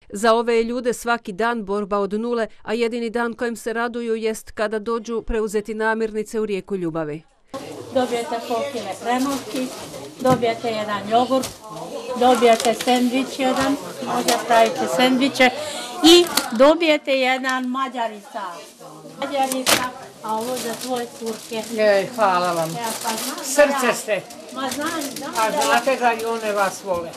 Za ove je ljude svaki dan borba od nule, a jedini dan kojem se raduju jest kada dođu preuzeti namirnice u rijeku ljubavi. Dobijete pol-kile hrenovki, dobijete jedan jogurt, dobijete sendvič jedan, možda pravite sendviče i dobijete jedan mađarica. A ovo za tvoje curke. Hvala vam. Srce ste. Ma znam. A znate da i one vas vole.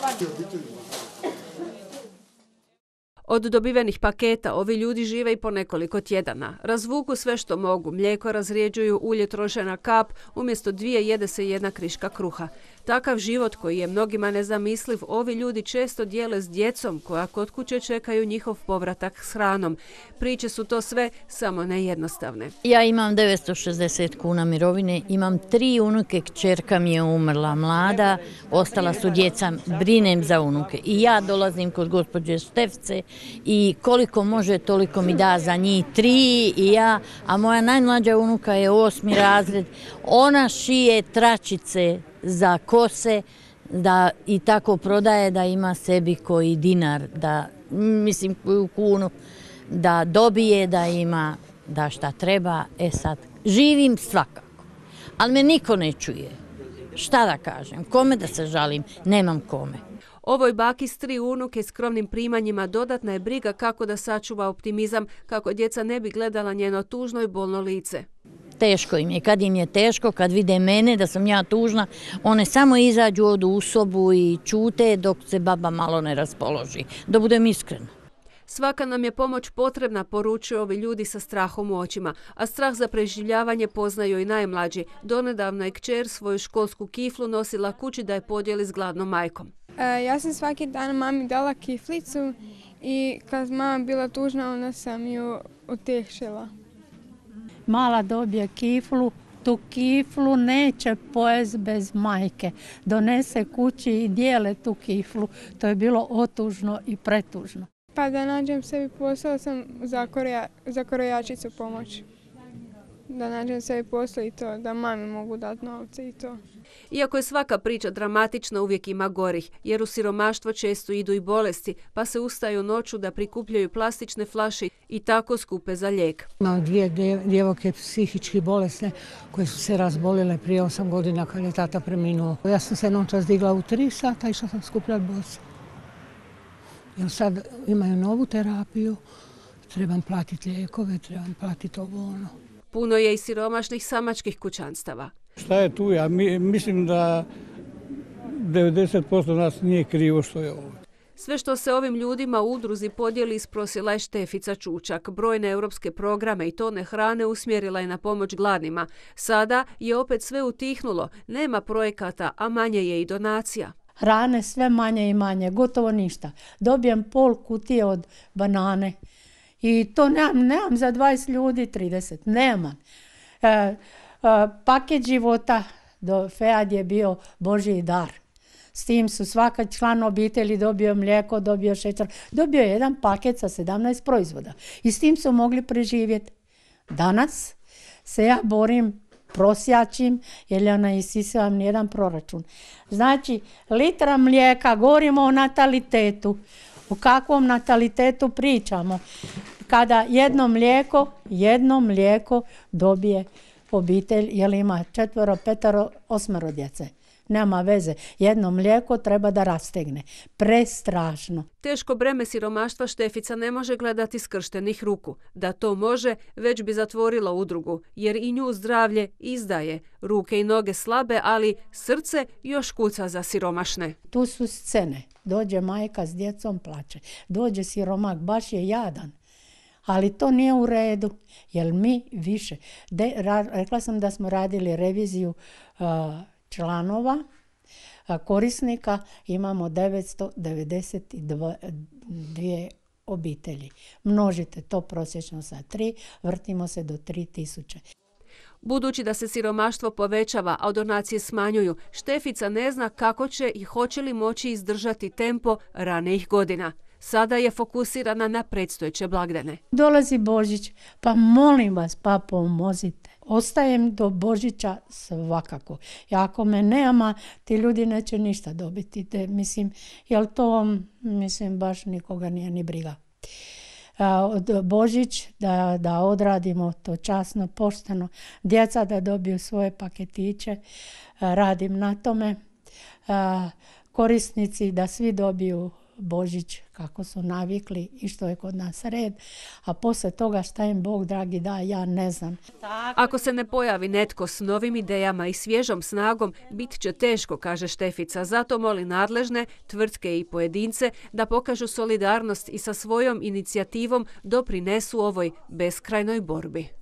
Od dobivenih paketa ovi ljudi žive i po nekoliko tjedana. Razvuku sve što mogu, mlijeko razrijeđuju, ulje troše na kap, umjesto 2 jede se 1 kriška kruha. Takav život koji je mnogima nezamisliv, ovi ljudi često dijele s djecom koja kod kuće čekaju njihov povratak s hranom. Priče su to sve, samo ne jednostavne. Ja imam 960 kuna mirovine, imam 3 unuke, kćerka mi je umrla mlada, ostala su djeca, brinem za unuke. I ja dolazim kod gospođe Štefce i koliko može toliko mi da za njih 3 i ja, a moja najmlađa unuka je 8. razred, ona šije tračice za kose, da i tako prodaje da ima sebi koji dinar, da mislim koju kunu, da dobije, da ima, da šta treba. Sad, živim svakako, ali me niko ne čuje. Šta da kažem, kome da se žalim, nemam kome. Ovoj baki s 3 unuke skromnim primanjima dodatna je briga kako da sačuva optimizam, kako djeca ne bi gledala njeno tužno i bolno lice. Teško im je. Kad im je teško, kad vide mene da sam ja tužna, one samo izađu, odu u sobu i čute dok se baba malo ne raspoloži. Da budem iskrena. Svaka nam je pomoć potrebna, poručuju ovi ljudi sa strahom u očima, a strah za preživljavanje poznaju i najmlađi. Donedavno je kćer svoju školsku kiflu nosila kući da je podijeli s gladnom majkom. Ja sam svaki dan mami dala kiflicu i kad mama bila tužna, onda sam ju utješila. Mala dobije kiflu, tu kiflu neće pojesti bez majke. Donese kući i dijele tu kiflu. To je bilo otužno i pretužno. Pa da nađem sebi posao sam za krojačicu pomoć. Da nađem sebi posao i to, da mami mogu dati novce i to. Iako je svaka priča dramatična, uvijek ima gorih, jer u siromaštvo često idu i bolesti, pa se ustaju noću da prikupljaju plastične flaše i tako skupe za lijek. Imam 2 djevojke psihički bolesne koje su se razbolile prije 8 godina kad je tata preminuo. Ja sam se noćas digla u 3 sata i išla sam skupljati boce. Jer sad imaju novu terapiju, trebam platiti lijekove, trebam platiti ovo ono. Puno je i siromašnih samačkih kućanstava. Šta je tu? Ja mislim da 90% nas nije krivo što je ovo. Sve što se ovim ljudima u udruzi podijeli isprosila je Štefica Čučak. Brojne europske programe i tone hrane usmjerila je na pomoć gladnima. Sada je opet sve utihnulo. Nema projekata, a manje je i donacija. Hrane sve manje i manje, gotovo ništa. Dobijem pol kutije od banane i to nemam za 20 ljudi, 30, nemam. Paket života do FEAD je bio Božji dar. S tim su svaka član obitelji dobio mlijeko, dobio šećer, dobio jedan paket sa 17 proizvoda. I s tim su mogli preživjeti. Danas se ja borim, prosjačim, jer ja ne isisavam nijedan proračun. Znači, litra mlijeka, govorimo o natalitetu. O kakvom natalitetu pričamo? Kada jedno mlijeko dobije obitelj, jer ima 4, 5, 8 djece. Nema veze. Jedno mlijeko treba da rastegne. Prestrašno. Teško breme siromaštva Štefica ne može gledati skrštenih ruku. Da to može, već bi zatvorila udrugu, jer i nju zdravlje izdaje. Ruke i noge slabe, ali srce još kuca za siromašne. Tu su scene. Dođe majka s djecom, plače. Dođe siromak, baš je jadan. Ali to nije u redu, jer mi više. Rekla sam da smo radili reviziju članova, korisnika, imamo 992 obitelji. Množite to prosječno sa 3, vrtimo se do 3000. Budući da se siromaštvo povećava, a donacije smanjuju, Štefica ne zna kako će i hoće li moći izdržati tempo ranijih godina. Sada je fokusirana na predstojeće blagdane. Dolazi Božić, pa molim vas, pa pomozite. ostajem do Božića svakako. I ako me nema, ti ljudi neće ništa dobiti. Mislim, jel to, mislim, baš nikoga nije ni briga. Od Božić da odradimo to časno, pošteno. Djeca da dobiju svoje paketiće. Radim na tome. Korisnici da svi dobiju Božić kako su navikli i što je kod nas red, a poslije toga šta im Bog dragi da, ja ne znam. Ako se ne pojavi netko s novim idejama i svježom snagom, bit će teško, kaže Štefica. Zato moli nadležne, tvrtke i pojedince da pokažu solidarnost i sa svojom inicijativom doprinesu ovoj beskrajnoj borbi.